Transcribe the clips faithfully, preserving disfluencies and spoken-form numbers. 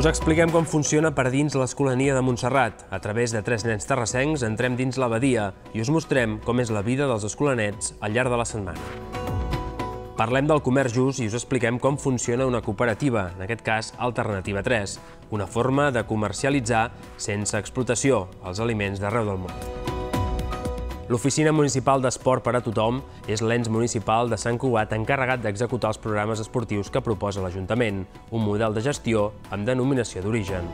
Us expliquem com funciona per dins l'Escolania de Montserrat. A través de tres nens terrassencs entrem dins l'abadia i us mostrem com és la vida dels escolanets al llarg de la setmana. Parlem del comerç just i us expliquem com funciona una cooperativa, en aquest cas Alternativa tres, una forma de comercialitzar sense explotació els aliments d'arreu del món. L'Oficina Municipal d'Esport per a Tothom és l'ens municipal de Sant Cugat encarregat d'executar els programes esportius que proposa l'Ajuntament, un model de gestió amb denominació d'origen.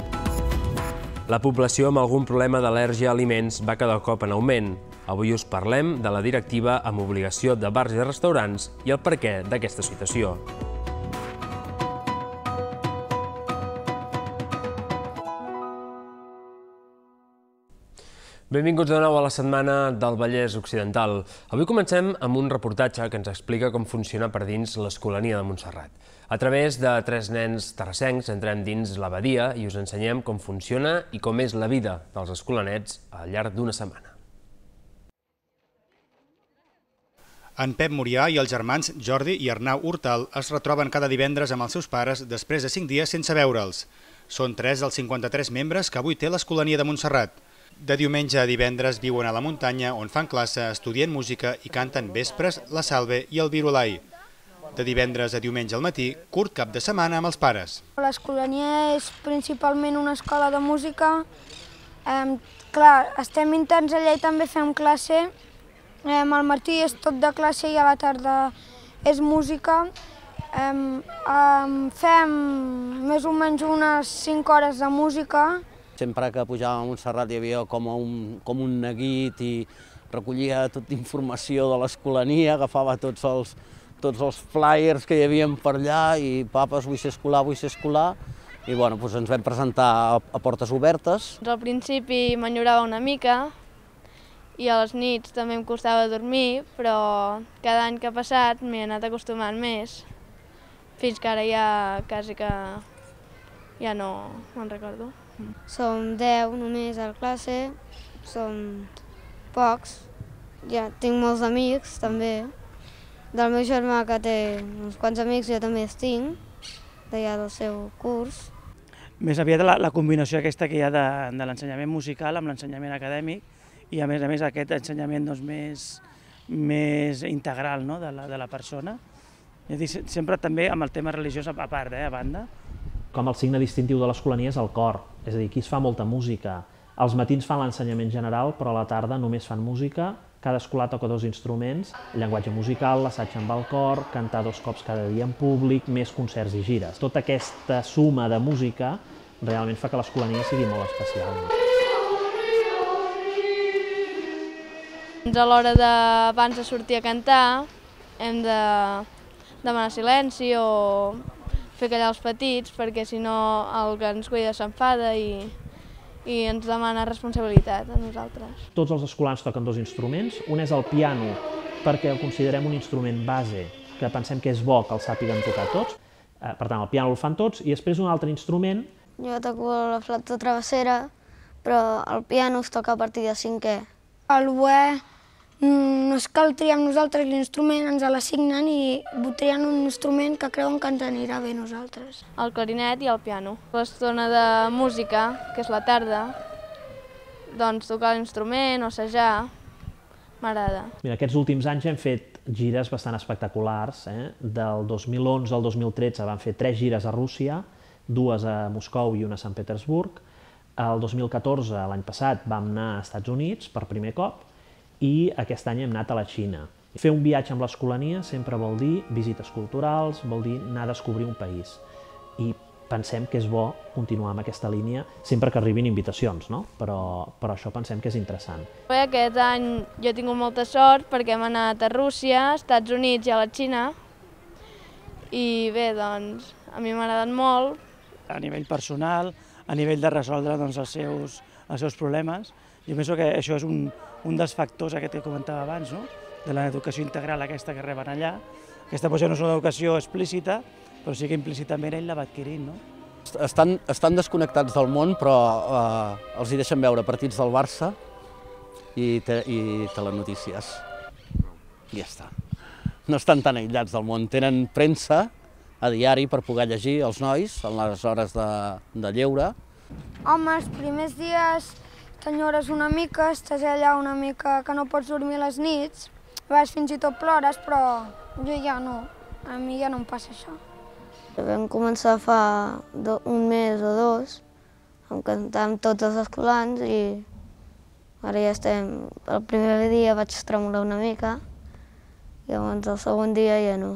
La població amb algun problema d'al·lèrgia a aliments va cada cop en augment. Avui us parlem de la directiva amb obligació de bars i restaurants i el perquè d'aquesta situació. Benvinguts de nou a la setmana del Vallès Occidental. Avui comencem amb un reportatge que ens explica com funciona per dins l'Escolania de Montserrat. A través de tres nens terrassencs entrem dins l'abadia i us ensenyem com funciona i com és la vida dels escolanets al llarg d'una setmana. En Pep Murià i els germans Jordi i Arnau Hortal es retroben cada divendres amb els seus pares després de cinc dies sense veure'ls. Són tres dels cinquanta-tres membres que avui té l'Escolania de Montserrat. De diumenge a divendres viuen a la muntanya on fan classe, estudien música i canten vespres, la salve i el virulai. De divendres a diumenge al matí, curt cap de setmana amb els pares. L'Escolania és principalment una escola de música. Eh, clar, estem interns allà i també fem classe. Eh, al matí és tot de classe i a la tarda és música. Eh, eh, fem més o menys unes cinc hores de música. Sempre que pujàvem a Montserrat hi havia com un, com un neguit i recollia tota informació de l'Escolania, agafava tots els, tots els flyers que hi havia per allà i papes, vull ser escolar, vull ser escolar. I bueno, doncs ens vam presentar a, a portes obertes. Al principi m'enyorava una mica i a les nits també em costava dormir, però cada any que ha passat m'he anat acostumant més, fins que ara ja quasi que ja no me'n recordo. Som deu només a la classe, som pocs. Ja tinc molts amics també. Del meu germà que té uns quants amics jo també els tinc, d'allà del seu curs. Més aviat la, la combinació aquesta que hi ha de, de l'ensenyament musical amb l'ensenyament acadèmic i a més a més aquest ensenyament doncs, més, més integral, no? de, la, de la persona. I sempre també amb el tema religiós a part, eh, a banda. Com el signe distintiu de l'Escolania és el cor, és a dir, aquí es fa molta música. Els matins fan l'ensenyament general, però a la tarda només fan música, cada escolar toca dos instruments, llenguatge musical, l'assaig amb el cor, cantar dos cops cada dia en públic, més concerts i gires. Tota aquesta suma de música realment fa que l'Escolania sigui molt especial. A l'hora d'abans de sortir a cantar hem de demanar silenci o fer callar els petits, perquè si no el que ens cuida s'enfada i, i ens demana responsabilitat a nosaltres. Tots els escolans toquen dos instruments. Un és el piano, perquè el considerem un instrument base, que pensem que és bo que el sàpiguen tocar tots. Per tant, el piano el fan tots, i després un altre instrument. Jo toco la flauta travessera, però el piano es toca a partir de cinquè. El oboè no és que el triem nosaltres l'instrument, ens l'assignen i trien un instrument que creuen que ens anirà bé nosaltres. El clarinet i el piano. L'estona de música, que és la tarda, doncs tocar l'instrument o assajar, m'agrada. Mira, aquests últims anys hem fet gires bastant espectaculars. Eh? Del dos mil onze al dos mil tretze vam fer tres gires a Rússia, dues a Moscou i una a Sant Petersburg. El dos mil catorze, l'any passat, vam anar a Estats Units per primer cop, i aquest any hem anat a la Xina. Fer un viatge amb l'Escolania sempre vol dir visites culturals, vol dir anar a descobrir un país. I pensem que és bo continuar amb aquesta línia sempre que arribin invitacions, no? Però, però això pensem que és interessant. Bé, aquest any jo he tingut molta sort perquè hem anat a Rússia, Estats Units i a la Xina. I bé, doncs, a mi m'ha agradat molt. A nivell personal, a nivell de resoldre doncs, els, seus, els seus problemes. Jo penso que això és un, un dels factors aquest que comentava abans, no? De l'educació integral aquesta que reben allà. Aquesta potser no és una educació explícita, però sí que implícitament ell la va adquirint, no? Estan, estan desconnectats del món, però eh, els hi deixen veure partits del Barça i, te, i telenotícies. I ja està. No estan tan aïllats del món. Tenen premsa a diari per poder llegir els nois en les hores de, de lleure. Home, els primers dies t'enyores una mica, estàs allà una mica que no pots dormir les nits, a vegades fins i tot plores, però jo ja no, a mi ja no em passa això. Vam començar fa un mes o dos, em cantàvem tots els escolans i ara ja estem... El primer dia vaig tremolar una mica i llavors el segon dia ja no.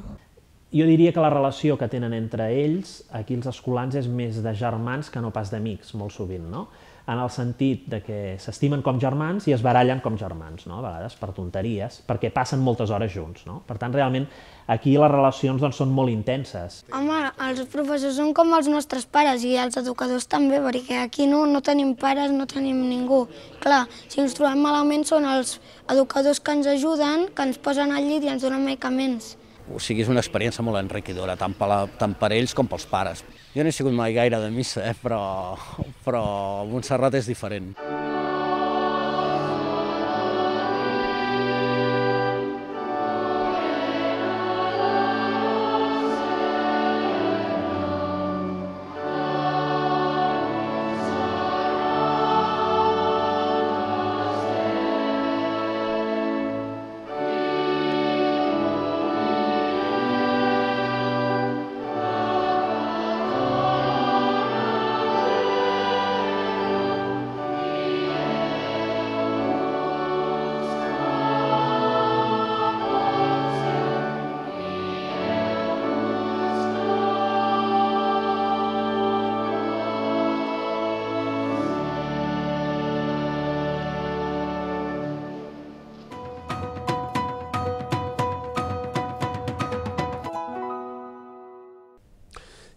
Jo diria que la relació que tenen entre ells, aquí els escolans, és més de germans que no pas d'amics, molt sovint, no? En el sentit de que s'estimen com germans i es barallen com germans, no? A vegades per tonteries, perquè passen moltes hores junts, no? Per tant, realment, aquí les relacions doncs, són molt intenses. Home, els professors són com els nostres pares i els educadors també, perquè aquí no, no tenim pares, no tenim ningú. Clar, si ens trobem malament són els educadors que ens ajuden, que ens posen al llit i ens donen medicaments. O sigui, és una experiència molt enriquidora, tant per, la, tant per ells com pels pares. Jo no he sigut mai gaire de missa, eh, però, però Montserrat és diferent.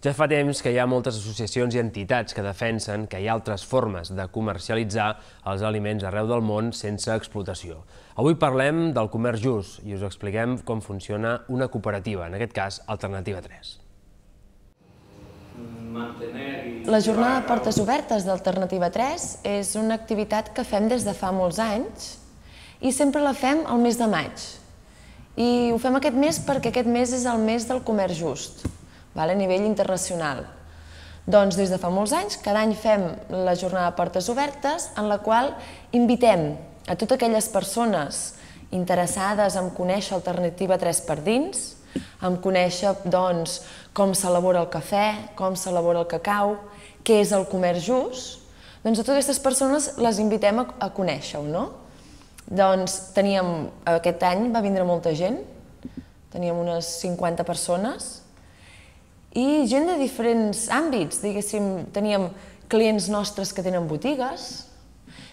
Ja fa temps que hi ha moltes associacions i entitats que defensen que hi ha altres formes de comercialitzar els aliments arreu del món sense explotació. Avui parlem del comerç just i us expliquem com funciona una cooperativa, en aquest cas Alternativa tres. La jornada de portes obertes d'Alternativa tres és una activitat que fem des de fa molts anys i sempre la fem al mes de maig. I ho fem aquest mes perquè aquest mes és el mes del comerç just, a nivell internacional. Doncs des de fa molts anys, cada any fem la jornada de portes obertes en la qual invitem a totes aquelles persones interessades en conèixer Alternativa tres per dins, en conèixer com s'elabora el cafè, com s'elabora el cacau, què és el comerç just, doncs a totes aquestes persones les invitem a conèixer-ho, no? Doncs teníem, aquest any va vindre molta gent, teníem unes cinquanta persones, i gent de diferents àmbits, diguéssim, teníem clients nostres que tenen botigues,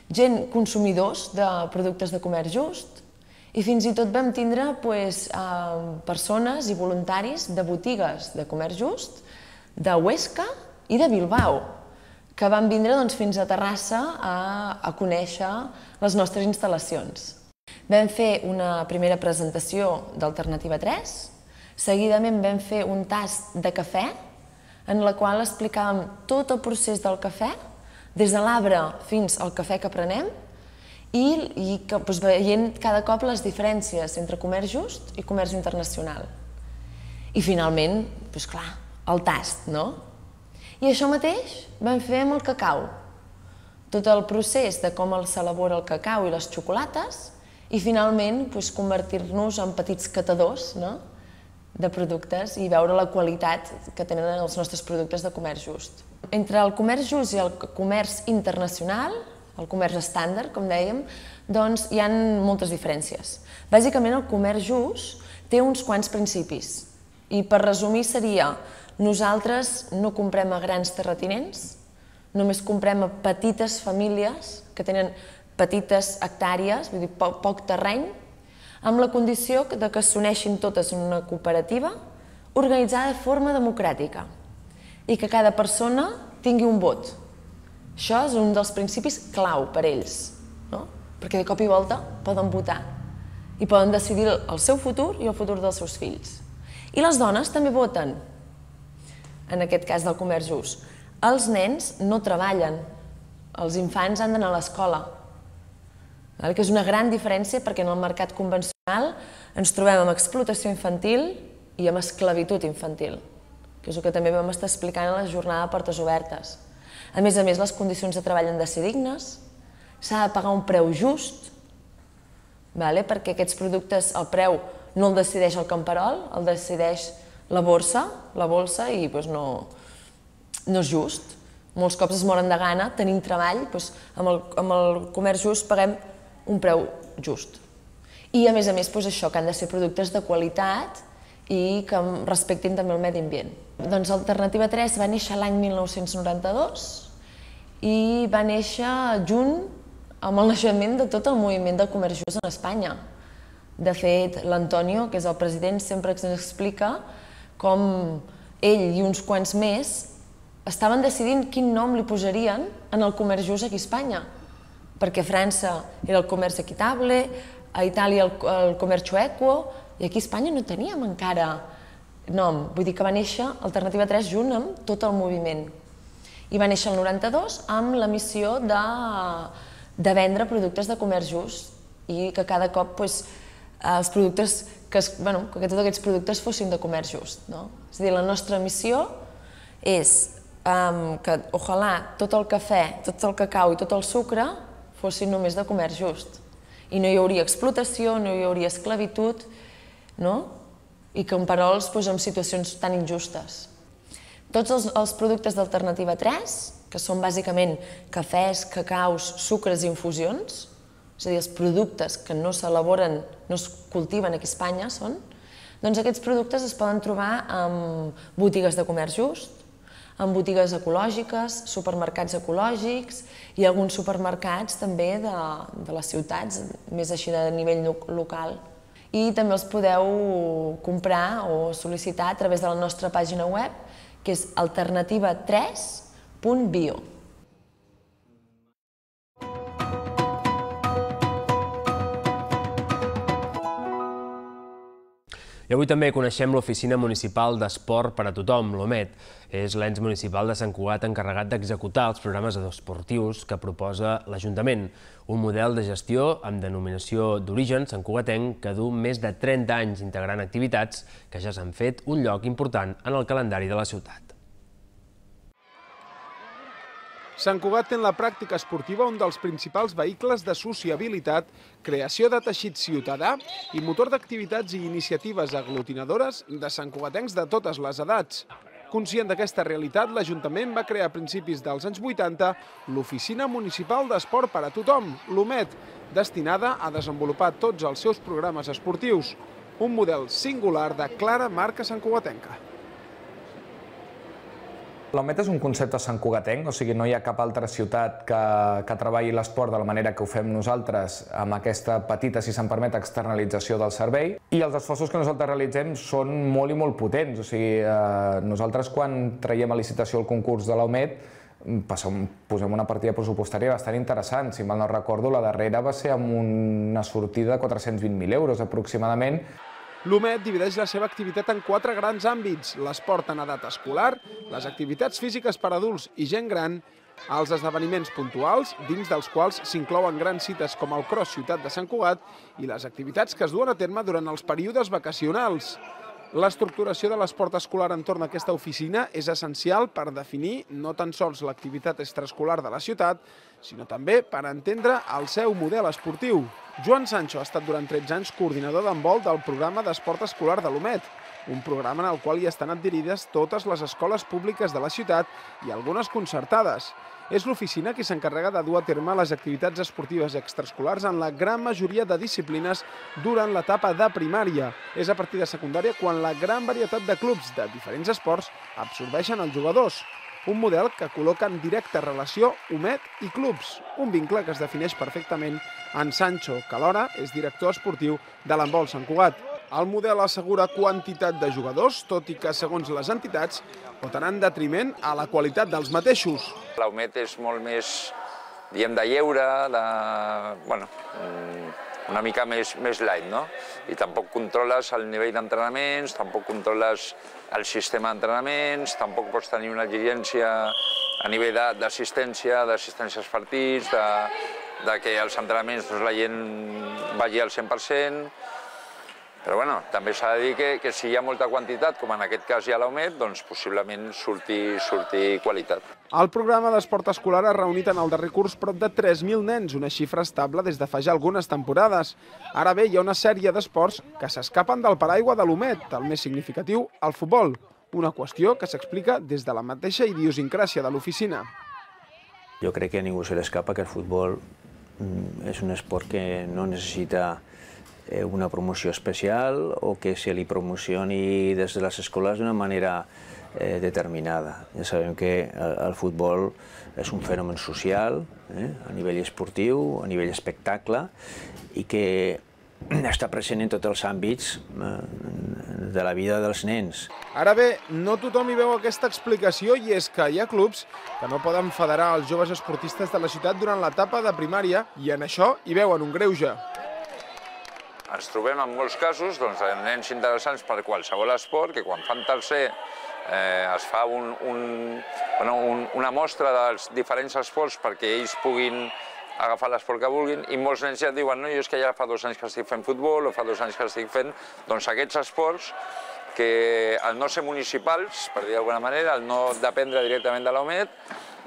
gent consumidors de productes de comerç just, i fins i tot vam tindre persones i voluntaris de botigues de comerç just, de Huesca i de Bilbao, que van vindre fins a Terrassa a conèixer les nostres instal·lacions. Vam fer una primera presentació d'Alternativa tres, seguidament vam fer un tast de cafè, en la qual explicàvem tot el procés del cafè, des de l'arbre fins al cafè que prenem, i veient cada cop les diferències entre comerç just i comerç internacional. I finalment, doncs clar, el tast, no? I això mateix vam fer amb el cacau. Tot el procés de com s'elabora el cacau i les xocolates, i finalment convertir-nos en petits catadors, no?, de productes i veure la qualitat que tenen els nostres productes de comerç just. Entre el comerç just i el comerç internacional, el comerç estàndard, com dèiem, doncs hi ha moltes diferències. Bàsicament el comerç just té uns quants principis i per resumir seria: nosaltres no comprem a grans terratinents, només comprem a petites famílies que tenen petites hectàrees, vull dir poc terreny, amb la condició que s'uneixin totes en una cooperativa organitzada de forma democràtica i que cada persona tingui un vot. Això és un dels principis clau per ells, perquè de cop i volta poden votar i poden decidir el seu futur i el futur dels seus fills. I les dones també voten, en aquest cas del comerç just. Els nens no treballen, els infants han d'anar a l'escola, que és una gran diferència perquè en el mercat convencional ens trobem amb explotació infantil i amb esclavitud infantil. que és el que també vam estar explicant a la jornada de portes obertes. A més a més, les condicions de treball han de ser dignes, s'ha de pagar un preu just, perquè aquests productes, el preu no el decideix el camperol, el decideix la borsa, la bolsa, i no és just. Molts cops es moren de gana, tenim treball, amb el comerç just paguem un preu just. I a més a més això, que han de ser productes de qualitat i que respectin també el medi ambient. Doncs Alternativa tres va néixer l'any mil nou-cents noranta-dos i va néixer junt amb el naixement de tot el moviment de comerç just en Espanya. De fet, l'Antonio, que és el president, sempre ens explica com ell i uns quants més estaven decidint quin nom li posarien en el comerç just aquí a Espanya, perquè a França era el comerç equitable, a Itàlia el comerç equo, i aquí a Espanya no teníem encara nom. Vull dir que va néixer Alternativa tres junt amb tot el moviment. I va néixer el noranta-dos amb la missió de vendre productes de comerç just i que cada cop els productes, que tots aquests productes fossin de comerç just. És a dir, la nostra missió és que, ojalà, tot el cafè, tot el cacau i tot el sucre fossin només de comerç just. I no hi hauria explotació, no hi hauria esclavitud, i camperols en situacions tan injustes. Tots els productes d'Alternativa tres, que són bàsicament cafès, cacaus, sucres i infusions, és a dir, els productes que no s'elaboren, no es cultiven aquí a Espanya són, doncs aquests productes es poden trobar en botigues de comerç just, en botigues ecològiques, supermercats ecològics i alguns supermercats també de les ciutats, més així de nivell local. I també els podeu comprar o sol·licitar a través de la nostra pàgina web, que és alternativa tres punt bio. I avui també coneixem l'Oficina Municipal d'Esport per a Tothom, l'OMET. És l'ens municipal de Sant Cugat encarregat d'executar els programes esportius que proposa l'Ajuntament. Un model de gestió amb denominació d'origen santcugatenc que du més de trenta anys integrant activitats que ja s'han fet un lloc important en el calendari de la ciutat. Sant Cugat té en la pràctica esportiva un dels principals vehicles de sociabilitat, creació de teixit ciutadà i motor d'activitats i iniciatives aglutinadores de santcugatencs de totes les edats. Conscient d'aquesta realitat, l'Ajuntament va crear a principis dels anys vuitanta l'Oficina Municipal d'Esport per a Tothom, l'OMET, destinada a desenvolupar tots els seus programes esportius. Un model singular de clara marca santcugatenca. L'OMET és un concepte santcugatenc, o sigui, no hi ha cap altra ciutat que treballi l'esport de la manera que ho fem nosaltres amb aquesta petita, si se'n permet, externalització del servei. I els esforços que nosaltres realitzem són molt i molt potents. O sigui, nosaltres quan traiem a licitació el concurs de l'OMET posem una partida pressupostària bastant interessant. Si mal no recordo, la darrera va ser amb una sortida de quatre-cents vint mil euros aproximadament. L'OMET divideix la seva activitat en quatre grans àmbits: l'esport en edat escolar, les activitats físiques per a adults i gent gran, els esdeveniments puntuals, dins dels quals s'inclouen grans cites com el Cross Ciutat de Sant Cugat, i les activitats que es duen a terme durant els períodes vacacionals. L'estructuració de l'esport escolar entorn d'aquesta oficina és essencial per definir no tan sols l'activitat extraescolar de la ciutat, sinó també per entendre el seu model esportiu. Joan Sancho ha estat durant tretze anys coordinador d'handbol del programa d'esport escolar de l'OMET, un programa en el qual hi estan adherides totes les escoles públiques de la ciutat i algunes concertades. És l'oficina qui s'encarrega de dur a terme les activitats esportives extraescolars en la gran majoria de disciplines durant l'etapa de primària. És a partir de secundària quan la gran varietat de clubs de diferents esports absorbeixen els jugadors. Un model que col·loca en directa relació OMET i clubs, un vincle que es defineix perfectament en Sancho, que alhora és director esportiu de l'handbol Sant Cugat. El model assegura quantitat de jugadors, tot i que, segons les entitats, pot anar en detriment a la qualitat dels mateixos. L'OMET és molt més, diguem, de lleure, de, bueno, una mica més, més light, no? I tampoc controles el nivell d'entrenaments, tampoc controles el sistema d'entrenaments, tampoc pots tenir una exigència a nivell d'assistència, d'assistència als partits, de, de que els entrenaments la gent vagi al cent per cent. Però bueno, també s'ha de dir que, que si hi ha molta quantitat, com en aquest cas hi ha l'Aumet, doncs possiblement surti, surti qualitat. El programa d'esport escolar ha reunit en el darrer curs prop de tres mil nens, una xifra estable des de fa ja algunes temporades. Ara bé, hi ha una sèrie d'esports que s'escapen del paraigua de l'Aumet, el més significatiu, el futbol. Una qüestió que s'explica des de la mateixa idiosincràsia de l'oficina. Jo crec que a ningú se li escapa que el futbol és un esport que no necessita una promoció especial o que se li promocioni des de les escoles d'una manera determinada. Ja sabem que el futbol és un fenomen social, a nivell esportiu, a nivell espectacle, i que està present en tots els àmbits de la vida dels nens. Ara bé, no tothom hi veu aquesta explicació i és que hi ha clubs que no poden federar els joves esportistes de la ciutat durant l'etapa de primària i en això hi veuen un greuge. Ens trobem en molts casos doncs, nens interessants per qualsevol esport que quan fan tercer eh, es fa un, un, bueno, un, una mostra dels diferents esports perquè ells puguin agafar l'esport que vulguin i molts nens ja et diuen no, jo és que ja fa dos anys que estic fent futbol o fa dos anys que estic fent doncs, aquests esports que al no ser municipals, per dir d'alguna manera, al no dependre directament de l'Aumet,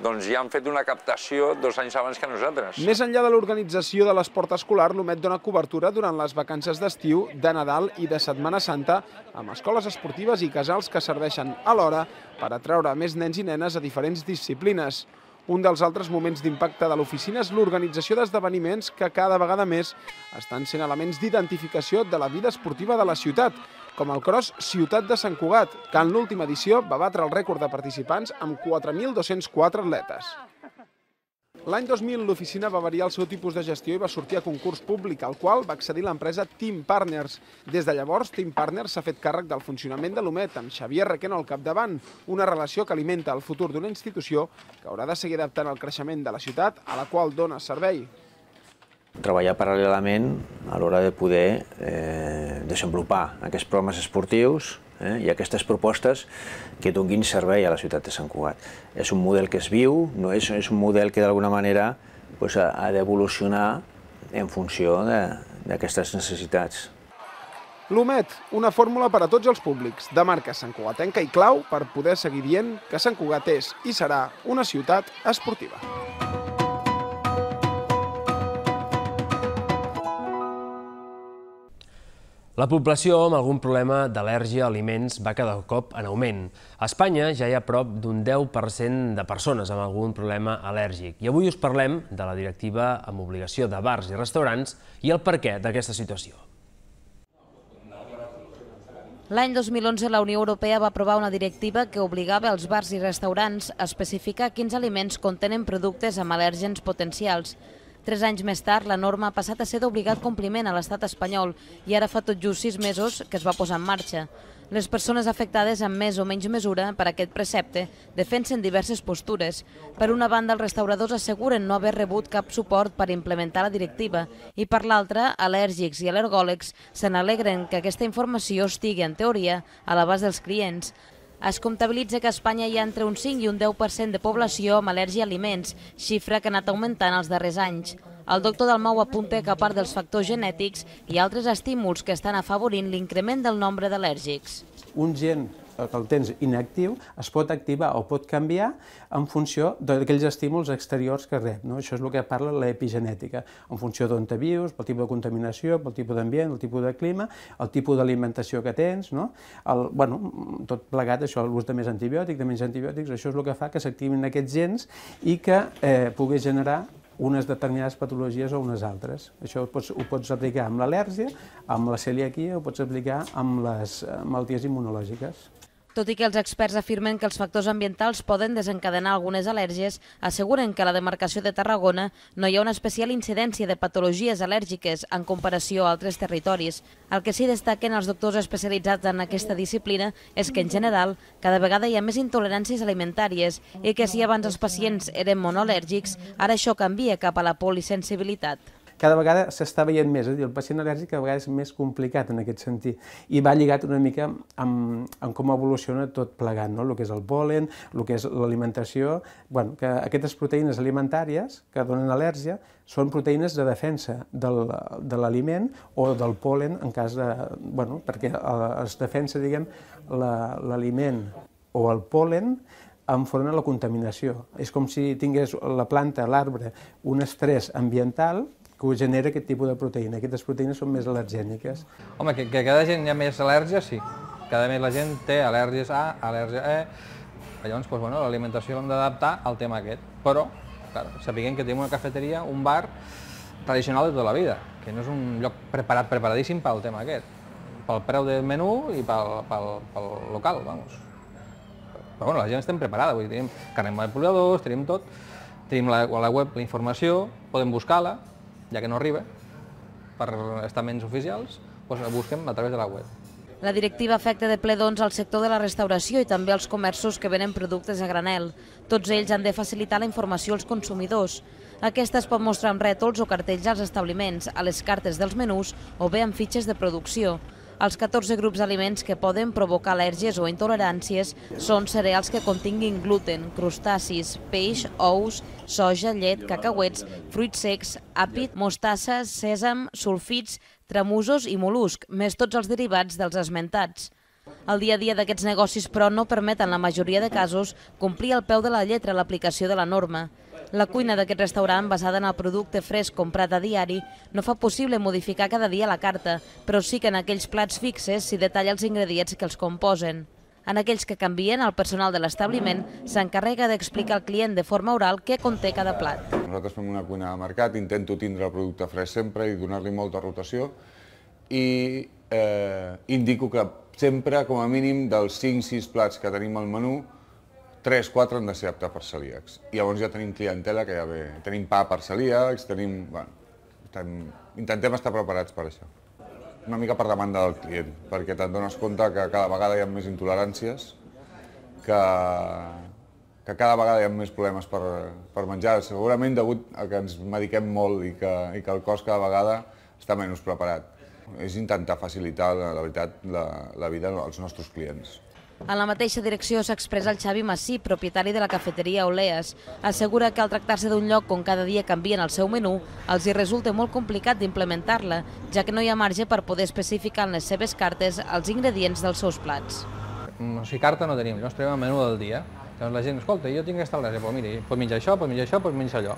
doncs ja han fet una captació dos anys abans que nosaltres. Més enllà de l'organització de l'esport escolar, l'Aumet dona cobertura durant les vacances d'estiu, de Nadal i de Setmana Santa amb escoles esportives i casals que serveixen alhora per atraure més nens i nenes a diferents disciplines. Un dels altres moments d'impacte de l'oficina és l'organització d'esdeveniments que cada vegada més estan sent elements d'identificació de la vida esportiva de la ciutat, com el Cross Ciutat de Sant Cugat, que en l'última edició va batre el rècord de participants amb quatre mil dos-cents quatre atletes. L'any dos mil l'oficina va variar el seu tipus de gestió i va sortir a concurs públic, al qual va accedir l'empresa Team Partners. Des de llavors, Team Partners s'ha fet càrrec del funcionament de l'Aumet, amb Xavier Requeno al capdavant, una relació que alimenta el futur d'una institució que haurà de seguir adaptant el creixement de la ciutat a la qual dona servei. Treballar paral·lelament a l'hora de poder eh, desenvolupar aquests programes esportius eh, i aquestes propostes que donin servei a la ciutat de Sant Cugat. És un model que es viu, no és, és un model que d'alguna manera pues, ha, ha d'evolucionar en funció d'aquestes necessitats. L'Aumet, una fórmula per a tots els públics, de marca santcugatenca i clau per poder seguir dient que Sant Cugat és i serà una ciutat esportiva. La població amb algun problema d'al·lèrgia a aliments va cada cop en augment. A Espanya ja hi ha prop d'un deu per cent de persones amb algun problema al·lèrgic. I avui us parlem de la directiva amb obligació de bars i restaurants i el perquè d'aquesta situació. L'any dos mil onze la Unió Europea va aprovar una directiva que obligava els bars i restaurants a especificar quins aliments contenen productes amb al·lèrgens potencials. Tres anys més tard, la norma ha passat a ser d'obligat compliment a l'estat espanyol i ara fa tot just sis mesos que es va posar en marxa. Les persones afectades en més o menys mesura per aquest precepte defensen diverses postures. Per una banda, els restauradors asseguren no haver rebut cap suport per implementar la directiva i per l'altra, al·lèrgics i al·lergòlegs se n'alegren que aquesta informació estigui, en teoria, a l'abast dels clients. Es comptabilitza que a Espanya hi ha entre un cinc i un deu per cent de població amb al·lèrgia a aliments, xifra que ha anat augmentant els darrers anys. El doctor Dalmau apunta que a part dels factors genètics hi ha altres estímuls que estan afavorint l'increment del nombre d'al·lèrgics. Un gen que el tens inactiu es pot activar o pot canviar en funció d'aquells estímuls exteriors que rep. No? Això és el que parla l'epigenètica, en funció d'on te vius, pel tipus de contaminació, pel tipus d'ambient, el tipus de clima, el tipus d'alimentació que tens, no? el, bueno, tot plegat, això, l'ús de més antibiòtics, de menys antibiòtics, això és el que fa que s'activin aquests gens i que eh, pugui generar unes determinades patologies o unes altres. Això ho pots, ho pots aplicar amb l'al·lèrgia, amb la celiaquia, ho pots aplicar amb les malalties immunològiques. Tot i que els experts afirmen que els factors ambientals poden desencadenar algunes al·lèrgies, asseguren que a la demarcació de Tarragona no hi ha una especial incidència de patologies al·lèrgiques en comparació a altres territoris. El que sí destaquen els doctors especialitzats en aquesta disciplina és que, en general, cada vegada hi ha més intoleràncies alimentàries i que si abans els pacients eren monoal·lèrgics, ara això canvia cap a la polisensibilitat. cada vegada s'està veient més, és a dir, el pacient al·lèrgic cada vegada és més complicat en aquest sentit, i va lligat una mica amb, amb com evoluciona tot plegat, no? El que és el pol·len, el que és l'alimentació, bueno, que aquestes proteïnes alimentàries que donen al·lèrgia són proteïnes de defensa del, de l'aliment o del pol·len en cas de... Bueno, perquè es defensa, diguem, l'aliment o el pol·len enfront a la contaminació. És com si tingués la planta, l'arbre, un estrès ambiental que ho genera aquest tipus de proteïna. Aquestes proteïnes són més al·lergèniques. Home, que, que cada gent hi ha més al·lèrgies, sí. Cada més la gent té al·lèrgies A, al·lèrgia E. Llavors, doncs, bueno, l'alimentació l'hem d'adaptar al tema aquest. Però, clar, sapiguem que tenim una cafeteria, un bar tradicional de tota la vida, que no és un lloc preparat, preparadíssim pel tema aquest. Pel preu del menú i pel, pel, pel local, vamos. Però bueno, la gent estem preparada, vull dir, tenim carnet manipuladors, tenim tot, tenim la, la web, la informació, podem buscar-la, ja que no arriba, per estaments oficials, doncs la busquem a través de la web. La directiva afecta de ple doncs al sector de la restauració i també als comerços que venen productes a granel. Tots ells han de facilitar la informació als consumidors. Aquesta es pot mostrar amb rètols o cartells als establiments, a les cartes dels menús o bé amb fitxes de producció. Els catorze grups d'aliments que poden provocar al·lèrgies o intoleràncies són cereals que continguin gluten, crustacis, peix, ous, soja, llet, cacauets, fruits secs, àpid, mostassa, sèsam, sulfits, tramusos i mol·lusc, més tots els derivats dels esmentats. El dia a dia d'aquests negocis, però, no permeten en la majoria de casos complir al peu de la lletra l'aplicació de la norma. La cuina d'aquest restaurant, basada en el producte fresc comprat a diari, no fa possible modificar cada dia la carta, però sí que en aquells plats fixes s'hi detalla els ingredients que els composen. En aquells que canvien, el personal de l'establiment s'encarrega d'explicar al client de forma oral què conté cada plat. Nosaltres fem una cuina de mercat, intento tindre el producte fresc sempre i donar-li molta rotació i eh, indico que sempre, com a mínim, dels cinc sis plats que tenim al menú, tres quatre han de ser aptes per celíacs. I llavors ja tenim clientela que ja ve. Tenim pa per celíacs, tenim... Bueno, estem, intentem estar preparats per això. Una mica per demanda del client, perquè te'n dones compte que cada vegada hi ha més intoleràncies, que, que cada vegada hi ha més problemes per, per menjar, segurament degut a que ens mediquem molt i que, i que el cos cada vegada està menys preparat. És intentar facilitar, la veritat, la, la vida als nostres clients. En la mateixa direcció s'expressa el Xavi Massí, propietari de la cafeteria Oleas. Assegura que al tractar-se d'un lloc on cada dia canvien el seu menú, els hi resulta molt complicat d'implementar-la, ja que no hi ha marge per poder especificar en les seves cartes els ingredients dels seus plats. O sigui, carta no tenim, llavors tenim el menú del dia. Llavors la gent, escolta, jo tinc aquesta al·lèrgia, però mira, pots menjar això, pots menjar això, pots menjar allò.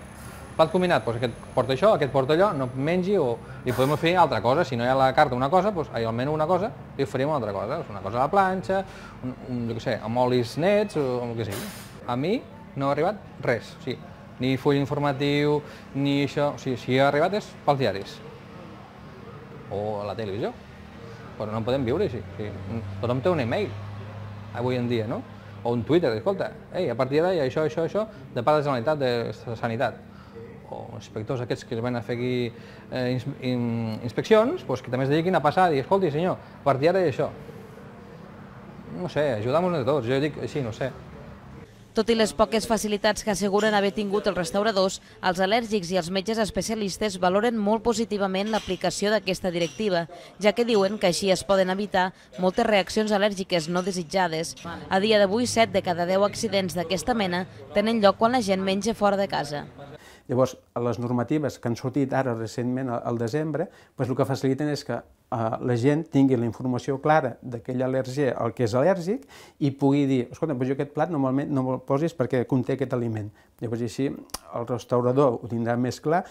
Plat combinat, doncs aquest porta això, aquest porta allò, no mengi o li podem oferir altra cosa. Si no hi ha a la carta una cosa, doncs al menú una cosa, li oferim una altra cosa. Una cosa a la planxa, un, un, jo què sé, amb olis nets o el que sigui. A mi no ha arribat res, o sigui, ni full informatiu, ni això, o sigui, si ha arribat és pels diaris o a la televisió, però no en podem viure així. O sigui, tothom té un e-mail avui en dia, no? O un Twitter, escolta, ei, a partir d'ara hi ha això, això, això, de part de la Generalitat de Sanitat. O inspectors aquests que es van a fer aquí eh, ins in inspeccions, doncs que també es dediquin a passar i dir, escolti senyor, a partir d'ara hi ha això. No sé, ajudem-nos de tots, jo dic així, no sé. Tot i les poques facilitats que asseguren haver tingut els restauradors, els al·lèrgics i els metges especialistes valoren molt positivament l'aplicació d'aquesta directiva, ja que diuen que així es poden evitar moltes reaccions al·lèrgiques no desitjades. A dia d'avui, set de cada deu accidents d'aquesta mena tenen lloc quan la gent menja fora de casa. Llavors, les normatives que han sortit ara recentment al desembre, doncs el que faciliten és que la gent tingui la informació clara d'aquell al·lèrgia al que és al·lèrgic i pugui dir, escolta, jo aquest plat normalment no me'l posis perquè conté aquest aliment. Llavors, així, el restaurador ho tindrà més clar,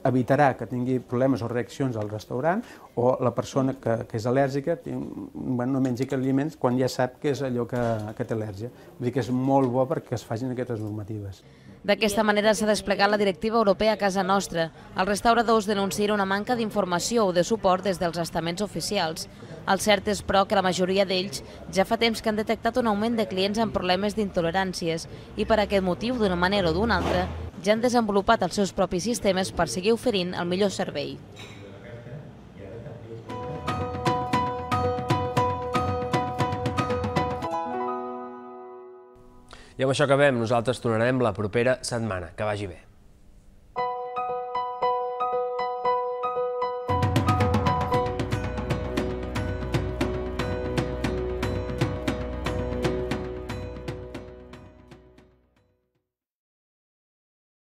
evitarà que tingui problemes o reaccions al restaurant o la persona que, que és al·lèrgica bueno, no mengi aquests aliments quan ja sap que és allò que, que té al·lèrgia. Vull dir que és molt bo perquè es facin aquestes normatives. D'aquesta manera s'ha desplegat la directiva europea a casa nostra. Els restauradors denuncien una manca d'informació o de suport des dels estaments oficials. El cert és, però, que la majoria d'ells ja fa temps que han detectat un augment de clients amb problemes d'intoleràncies i per aquest motiu, d'una manera o d'una altra, ja han desenvolupat els seus propis sistemes per seguir oferint el millor servei. I amb això acabem. Nosaltres tornarem la propera setmana. Que vagi bé.